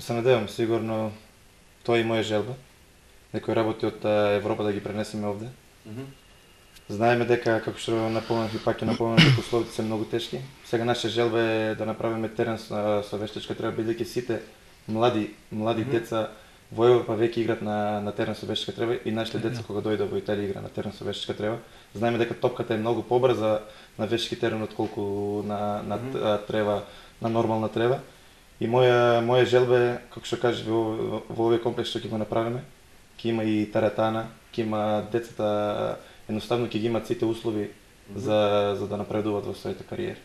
Се надевам, сигурно тоа е и моја желба. Некои работи од Европа да ги пренесеме овде. Знаеме дека, како што напомнав и пак ќе напомнам, дека условите се многу тешки. Сега наша желба е да направиме терен со вештачка трева, бидејќи сите млади деца во Европа веќе играат на терен со вештачка трева и нашите деца кога дојдат во Италија игра на терен со вештачка трева. Знаеме дека топката е многу побрза на вештачки терен отколку на трева, на нормална трева. И моја желба е, како што кажеш, во овој комплекс што ќе го направиме, ќе има и теретана, ќе има децата, едноставно ќе ги имаат сите услови за да напредуваат во своите кариери.